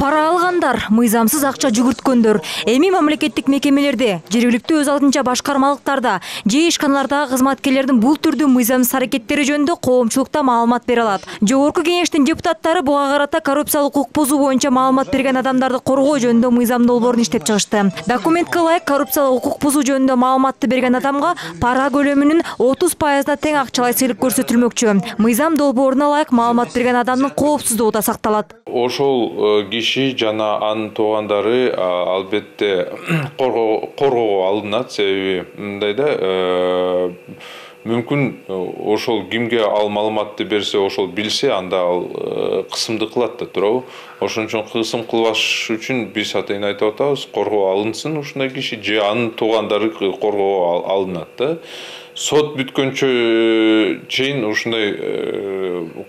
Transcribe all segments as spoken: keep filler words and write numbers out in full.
Пара алгандар, мыйзамсыз акча жүгүрткөндөр, эми мамлекеттик мекемелерде, жергиликтүү өз алдынча башкармалыктарда же ишканалардагы кызматкерлердин бул түрдүү мыйзамсыз аракеттери жөнүндө коомчулукта маалымат бере алат. Жогорку кеңештин депутаттары буга карата коррупциялык укук бузуу боюнча маалымат берген адамдарды коргоо жөнүндө мыйзам долбоорун иштеп чыгышты. Документке ылайык коррупциялык укук бузуу жөнүндө маалыматты берген адамга пара көлөмүнүн отуз пайызына тең акчалай сыйлык көрсөтүлмөкчү. Мыйзам долбооруна ылайык маалымат берген адамдын коопсуздугу да сакталат. Ошол киши жана анын туугандары албетте коргоого алынат, себеби мындай да мүмкүн ошол кимге ал маалыматты берсе, ошол билсе, анда ал кысымды кылат да туурабы. Ошон үчүн кысым кылбаш үчүн биз атайын айтып атабыз, коргоого алынсын ушундай киши же анын туугандары коргоого алынат да. Сот бүткөнчө чейин ушундай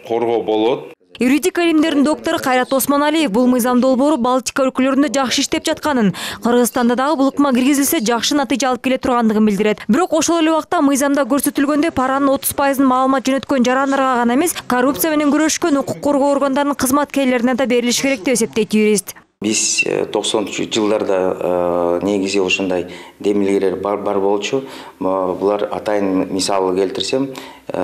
коргоо болот. Юридика илимдеринин доктору Кайрат Осмоналиев бул мыйзам долбоору Балтика өлкөлөрүндө жакшы иштеп жатканын, Кыргызстанда дагы бул ыкма киргизилсе жакшы натыйжа алып келе тургандыгын билдирет. Бирок ошол эле убакта мыйзамда көрсөтүлгөндөй паранын отуз пайызын маалымат жөнөткөн жарандарга гана эмес, коррупция менен күрөшкөн укук коргоо органдарынын кызматкерлерине да берилиш керек деп эсептейт юрист. Биз токсонунчу жылдарда негизи ошондой демилгелер бар бар болчу. Булар атайын мисалы келтирсем,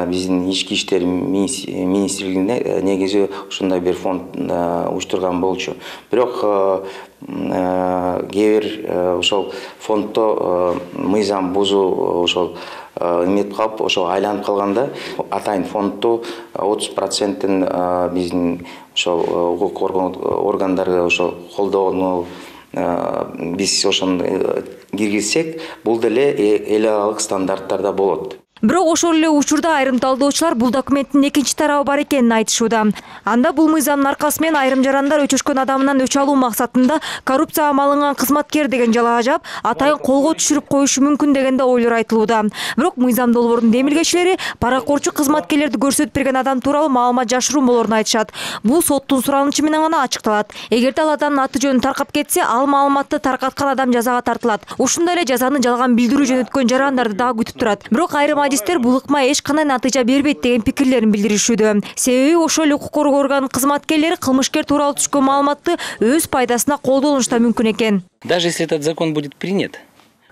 биздин ички иштер министрлигине негизи ошондой бир фонд уюштурган болчу. Бирок кээ бир ошол фонддо мыйзам бузуу ошол эмет калып, ошол айланып калганда атайын фондду отуз процентин биздин ошол укук коргоо органдары ошол колдоону биз ошону киргизсек, бул деле эл аралык стандарттарда болот. Бирок ошол эле учурда айрым талдоочулар бул документтин экинчи тарабы бар экенин айтышууда. Анда бул мыйзамдын аркасы менен айрым жарандар өчөшкөн адамынан өч алуу максатында коррупцияга малынган кызматкер деген жалага жаап, атайын колго түшүрүп коюшу мүмкүн деген да ойлор айтылууда. Бирок мыйзам долбоорунун демилгечилери паракорчу кызматкерлерди көрсөтүп берген адам тууралуу маалымат жашыруун болоорун айтышат. Бул соттун суранычы менен гана ачыкталат. Эгерде ал адамдын аты жөнү таркап кетсе, ал маалыматты таркаткан адам жазага тартылат. Ушундай эле жазаны жалган билдирүү жөнөткөн жарандарды дагы күтүп турат. Бирок айрым адистер бул ыкма эч кандай натыйжа бербейт деген пикирлерин билдиришүүдө. Себеби ошол эле укук коргоо органынын кызматкерлери кылмышкер тууралуу түшкөн маалыматты өз пайдасына колдонушу да мүмкүн экен. Даже если этот закон будет принят,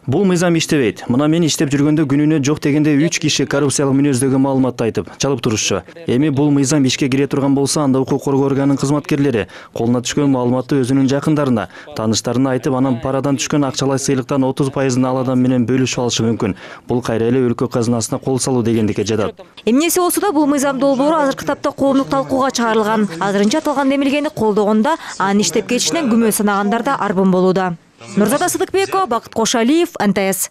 бул мыйзам иштебейт. Мына мен иштеп жүргөндө күнүнө жок дегенде үч киши коррупциялык мүнөздөгү маалыматты айтып, чалып турушчу. Эми бул мыйзам ишке кире турган болсо, анда укук коргоо органынын кызматкерлери колуна түшкөн маалыматты өзүнүн жакындарына, тааныштарына айтып, анан парадан түшкөн акчалай сыйлыктан отуз пайызын ал адам менен бөлүшүп алышы мүмкүн. Бул кайра эле өлкө казынасына кол салуу дегендикке жатат. Эмнеси болсо да бул мыйзам долбоору азыркы тапта коомдук талкууга чыгарылган. Азырынча аталган демилгени колдогондо анын иштеп кетишинен күмөн санагандар да арбын болууда. Нурзада Сыдыкбекова, Бакыт Кошалиев, эн тэ эс.